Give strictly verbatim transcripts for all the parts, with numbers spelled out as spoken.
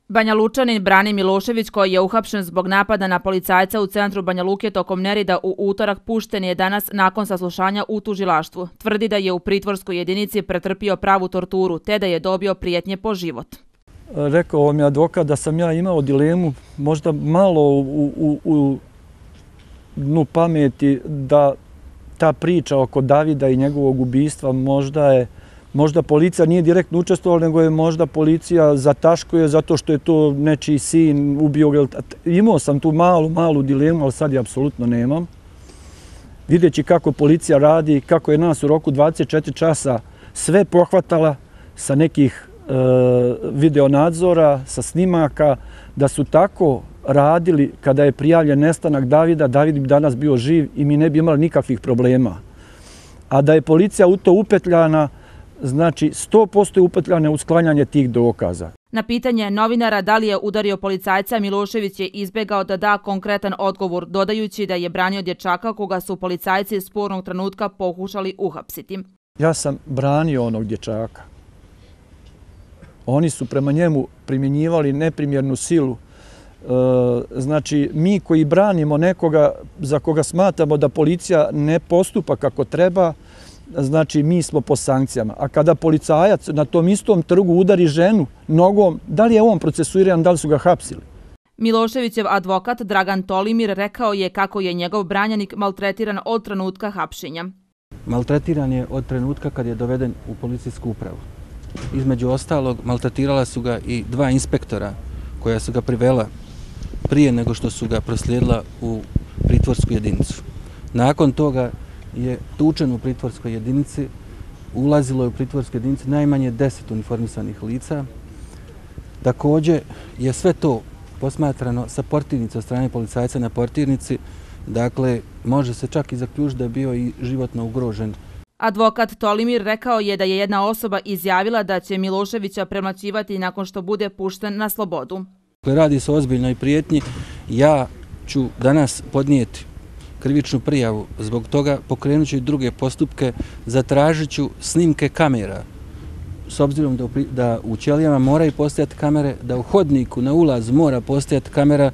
Banja Lučanin Brani Milošević, koji je uhapšen zbog napada na policajca u centru Banja Luke tokom nereda u utorak, pušten je danas nakon saslušanja u tužilaštvu. Tvrdi da je u pritvorskoj jedinici pretrpio pravu torturu, te da je dobio prijetnje po život. Rekao mi advokat da sam ja imao dilemu, možda malo u, u, u dnu pameti, da ta priča oko Davida i njegovog ubistva možda je Možda policija nije direktno učestvovala, nego je možda policija zataškuje zato što je to nečiji sin, ubio ga. Imao sam tu malu, malu dilemu, ali sad je apsolutno nemam. Vidjeći kako policija radi, kako je nas u roku dvadeset četiri časa sve pohvatala sa nekih e, videonadzora, sa snimaka, da su tako radili kada je prijavljen nestanak Davida, David bi danas bio živ i mi ne bi imali nikakvih problema. A da je policija u to upetljana, znači sto posto je upetljane u sklanjanje tih dokaza. Na pitanje novinara da li je udario policajca, Milošević je izbjegao da da konkretan odgovor, dodajući da je branio dječaka koga su policajci spornog trenutka pokušali uhapsiti. Ja sam branio onog dječaka. Oni su prema njemu primjenjivali neprimjernu silu. Znači, mi koji branimo nekoga za koga smatramo da policija ne postupa kako treba, znači mi smo po sankcijama. A kada policajac na tom istom trgu udari ženu nogom, da li je on procesuiran, da li su ga hapsili? Miloševićev advokat Dragan Tolimir rekao je kako je njegov branjenik maltretiran od trenutka hapšenja. Maltretiran je od trenutka kad je doveden u policijsku upravu. Između ostalog, maltretirala su ga i dva inspektora koja su ga privela prije nego što su ga proslijedila u pritvorsku jedinicu. Nakon toga je tučen u pritvorskoj jedinici, ulazilo je u pritvorskoj jedinici najmanje deset uniformisanih lica. Također je sve to posmatrano sa portirnice od strane policajca na portirnici, dakle može se čak i zaključiti da je bio i životno ugrožen. Advokat Tolimir rekao je da je jedna osoba izjavila da će Miloševića premlaćivati nakon što bude pušten na slobodu. Radi se o ozbiljnoj prijetnji, ja ću danas podnijeti krivičnu prijavu, zbog toga pokrenut ću i druge postupke, zatražit ću snimke kamera, s obzirom da, da u ćelijama moraju postojati kamere, da u hodniku na ulazu mora postojati kamera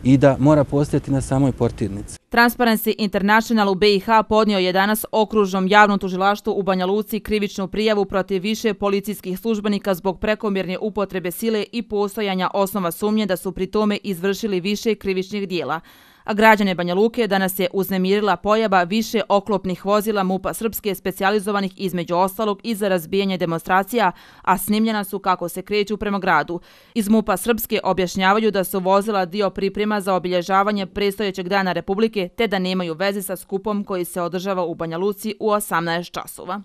i da mora postojati na samoj portirnici. Transparency International u B i H podnio je danas okružnom javnom tužilaštvu u Banja Luci krivičnu prijavu protiv više policijskih službenika zbog prekomjerne upotrebe sile i postojanja osnova sumnje da su pri tome izvršili više krivičnih dijela. A građane Banja Luke danas je uznemirila pojava više oklopnih vozila MUP-a Srpske specijalizovanih između ostalog i za razbijanje demonstracija, a snimljena su kako se kreću prema gradu. Iz MUP-a Srpske objašnjavaju da su vozila dio priprema za obilježavanje predstojećeg dana Republike te da nemaju veze sa skupom koji se održava u Banja Luci u osamnaest časova.